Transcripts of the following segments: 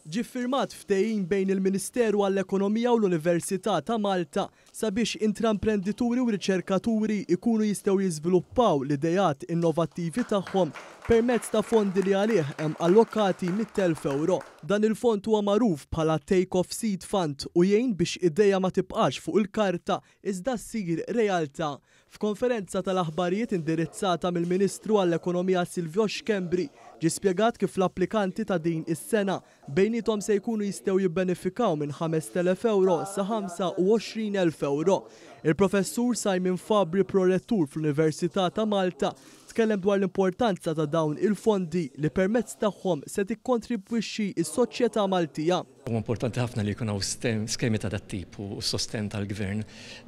Ġie ffirmat ftehim bejn il-Ministeru għall-Ekonomija u l-Università ta' Malta sabiex intraprenditori u riċerkaturi jkunu jistgħu jiżviluppaw l-ideat innovattivi tagħhom permezz ta' fondi li għalih hemm allokati 100,000 ewro. Dan il-fond huwa magħruf bħala Take Off Seed Fund u jgħin biex idea ma tibqax fuq il-karta iżda ssir realtà. F'konferenza tal-aħbarijiet indirizzata mill-Ministru għall-Ekonomija Silvio Schembri, ġie spjegat kif l-applikanti ta' din is-sena bejniethom se jkunu jistgħu jibbenefikaw minn 5,000 ewro sa 25,000 ewro. Il-Professur Simon Fabri, Prorettur fl-Università ta' Malta, tkellem dwar l-importanza ta' dawn il-fondi li permezz tagħhom se tikkontribwixxi s-soċjetà Maltija. Huwa importanti ħafna li jkun hawn skemi ta' dat-tip u s-sostenn tal-gvern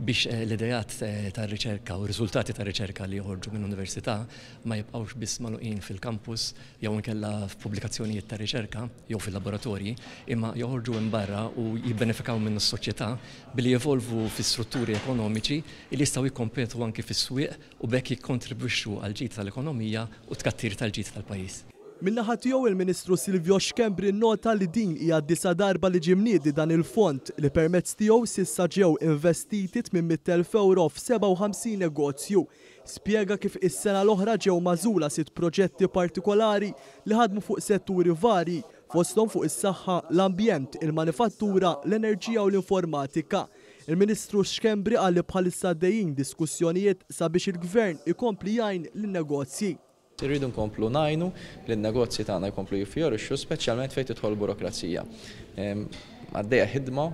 biex l-ideat tar-riċerka u r-riżultati tar-riċerka li joħorġu minn università ma jibqgħux biss magħluqin fil-kampus jew inkella f'pubblikazzjonijiet ta' riċerka jew fil-laboratorji, imma joħorġu hemm barra u jibbenefikaw minnu s-soċjetà billi jevolvu fi strutturi ekonomiċi li jistgħu jikkompetu anki fis-swieq u b'hekk jikkontribwixxu għall-ġid tal-ekonomija u t-tkattir tal-ġid tal-pajjiż. Min-naħa tiegħu il-Ministru Silvio Schembri nnota li din hija d-disa' darba li ġie mniedi dan il-fond li permezz tiegħu s'issa ġew investiti 800,000 ewro f'57 negozju. Spjega kif is-sena l-oħra ġew magħżula sitt proġetti partikolari li ħadmu fuq setturi varji, fosthom fuq is-saħħa, l-ambjent, il-manifattura, l-enerġija u l-informatika. Il-Ministru Schembri qal li bħalissa għaddejjin diskussjonijiet sabiex il-Gvern ikompli jgħin lin-negozji. Irridu nkomplu ngħinu lin-negozji tagħna jkomplu jiffjorixxu, speċjalment fejn tidħol burokrazija. Għaddejja ħidma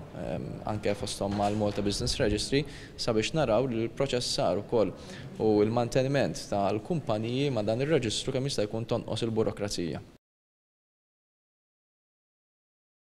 anke fosthom mal-Malta Business Registry sabiex naraw li l-proċessar ukoll u l-manteniment tal-kumpaniji ma' dan ir-reġistru kemm jista' jkun tonqos il-burokrazija.